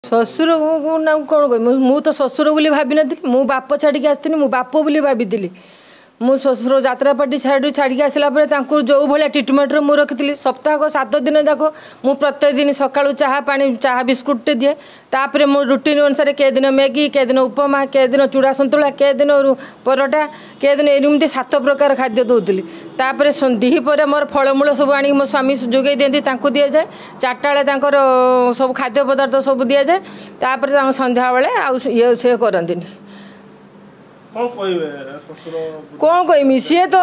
ଶ୍ୱଶୁର ନା କ'ଣ କହିବି, ମୁଁ ତ ଶ୍ୱଶୁର ବୋଲି ଭାବିନଥିଲି। ମୁଁ ବାପ ଛାଡ଼ିକି ଆସିଥିଲି, ମୁଁ ବାପ ବୋଲି ଭାବିଥିଲି। ମୁଁ ଶ୍ୱଶୁର ଯାତ୍ରା ପାର୍ଟି ଛାଡ଼ିକି ଆସିଲା ପରେ ତାଙ୍କୁ ଯେଉଁ ଭଳିଆ ଟ୍ରିଟମେଣ୍ଟରେ ମୁଁ ରଖିଥିଲି, ସପ୍ତାହକ 7 ଦିନ ଯାକ ମୁଁ ପ୍ରତ୍ୟେକ ଦିନ ସକାଳୁ ଚାହା ପାଣି, ଚାହା ବିସ୍କୁଟଟେ ଦିଏ। ତାପରେ ମୁଁ ରୁଟିନ୍ ଅନୁସାରେ କେ ଦିନ ମ୍ୟାଗି, କେ ଦିନ ଉପମା, କେ ଦିନ ଚୁଡ଼ା ସନ୍ତୁଳା, କେ ଦିନ ପରଟା, କେ ଦିନ ଏମିତି 7 ପ୍ରକାର ଖାଦ୍ୟ ଦେଉଥିଲି। ତାପରେ ଦ୍ୱିପହରେ ମୋର ଫଳମୂଳ ସବୁ ଆଣିକି ମୋ ସ୍ୱାମୀ ଯୋଗାଇ ଦିଅନ୍ତି, ତାଙ୍କୁ ଦିଆଯାଏ। 4ଟା ବେଳେ ତାଙ୍କର ସବୁ ଖାଦ୍ୟ ପଦାର୍ଥ ସବୁ ଦିଆଯାଏ। ତାପରେ ତାଙ୍କ ସନ୍ଧ୍ୟାବେଳେ ଆଉ ଇଏ ସେ କରନ୍ତିନି। କ'ଣ କହିମି, ସିଏ ତ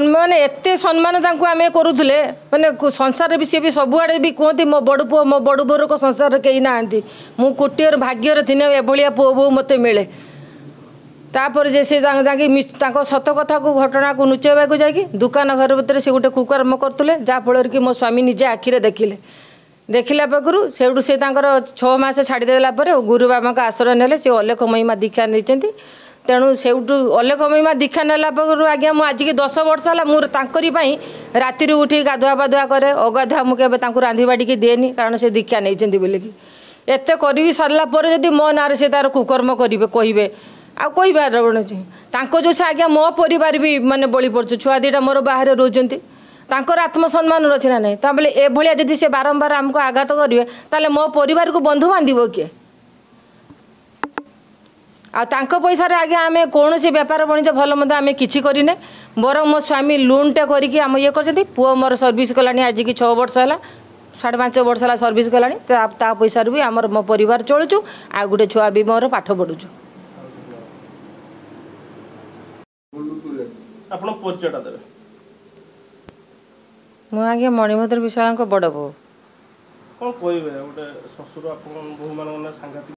ମାନେ ଏତେ ସମ୍ମାନ ତାଙ୍କୁ ଆମେ କରୁଥିଲେ, ମାନେ ସଂସାରରେ ବି ସିଏ ବି ସବୁଆଡ଼େ ବି କୁହନ୍ତି ମୋ ବଡ଼ ପୁଅ, ମୋ ବଡ଼ ବୋଉର ସଂସାରରେ କେହି ନାହାନ୍ତି, ମୁଁ କୋଟିଏର ଭାଗ୍ୟରେ ଥିନେ ଏଭଳିଆ ପୁଅ ବୋହୂ ମୋତେ ମିଳେ। ତାପରେ ଯେ ସେ ତାଙ୍କ ସତ କଥାକୁ ଘଟଣାକୁ ଲୁଚାଇବାକୁ ଯାଇକି ଦୋକାନ ଘର ଭିତରେ ସେ ଗୋଟେ କୁକର୍ମ କରୁଥିଲେ, ଯାହାଫଳରେ କି ମୋ ସ୍ୱାମୀ ନିଜେ ଆଖିରେ ଦେଖିଲେ। ଦେଖିଲା ପାଖରୁ ସେଇଠୁ ସେ ତାଙ୍କର 6 ମାସ ଛାଡ଼ିଦେଲା ପରେ ଗୁରୁ ବାବାଙ୍କ ଆଶ୍ରୟ ନେଲେ। ସେ ଅଲେଖ ମହିମା ଦୀକ୍ଷା ନେଇଛନ୍ତି। ତେଣୁ ସେଇଠୁ ଅଲେଖ ମହିମା ଦୀକ୍ଷା ନେଲା ପାଖରୁ ଆଜ୍ଞା ମୁଁ ଆଜିକି 10 ବର୍ଷ ହେଲା ମୁଁ ତାଙ୍କରି ପାଇଁ ରାତିରୁ ଉଠି ଗାଧୁଆ ପାଧୁଆ କରେ। ଅଗାଧୁଆ ମୁଁ କେବେ ତାଙ୍କୁ ରାନ୍ଧି ବାଢ଼ିକି ଦିଏନି, କାରଣ ସେ ଦୀକ୍ଷା ନେଇଛନ୍ତି ବୋଲିକି। ଏତେ କରିବି ସରିଲା ପରେ ଯଦି ମୋ ନାଁରେ ସେ ତାର କୁକର୍ମ କରିବେ କହିବେ, ଆଉ କହିବାର ଅଛି ତାଙ୍କ ଯେଉଁ ସେ ଆଜ୍ଞା ମୋ ପରିବାର ବି ମାନେ ବଳି ପଡ଼ୁଛି। ଛୁଆ 2ଟା ମୋର ବାହାରେ ରହୁଛନ୍ତି, ତାଙ୍କର ଆତ୍ମସମ୍ମାନ ଅଛି ନା ନାହିଁ? ତା ବୋଲେ ଏଭଳିଆ ଯଦି ସେ ବାରମ୍ବାର ଆମକୁ ଆଘାତ କରିବେ, ତାହେଲେ ମୋ ପରିବାରକୁ ବନ୍ଧୁ ବାନ୍ଧିବ କିଏ? ଆଉ ତାଙ୍କ ପଇସାରେ ଆଜ୍ଞା ଆମେ କୌଣସି ବେପାର ବାଣିଜ୍ୟ ଭଲ ମନ୍ଦ ଆମେ କିଛି କରିନେ, ବରଂ ମୋ ସ୍ୱାମୀ ଲୋନ୍ଟା କରିକି ଆମ ଇଏ କରିଛନ୍ତି। ପୁଅ ମୋର ସର୍ଭିସ୍ କଲାଣି ଆଜିକି 6 ବର୍ଷ ହେଲା, 5.5 ବର୍ଷ ହେଲା ସର୍ଭିସ୍ କଲାଣି। ତା ପଇସାରୁ ବି ଆମର ମୋ ପରିବାର ଚଳୁଛୁ। ଆଉ ଗୋଟେ ଛୁଆ ବି ମୋର ପାଠ ପଢ଼ୁଛୁ। ଆପଣ ପରିଚୟଟା ଦେବେ? ମୁଁ ଆଜ୍ଞା ମଣିଭଦ୍ର ବିଶ୍ୱାଳଙ୍କ ବଡ଼ ବୋହୂ। କ'ଣ କହିବେ, ଗୋଟେ ଶ୍ୱଶୁର ଆପଣ ବୋହୂମାନଙ୍କ ସାଂଘାତିକ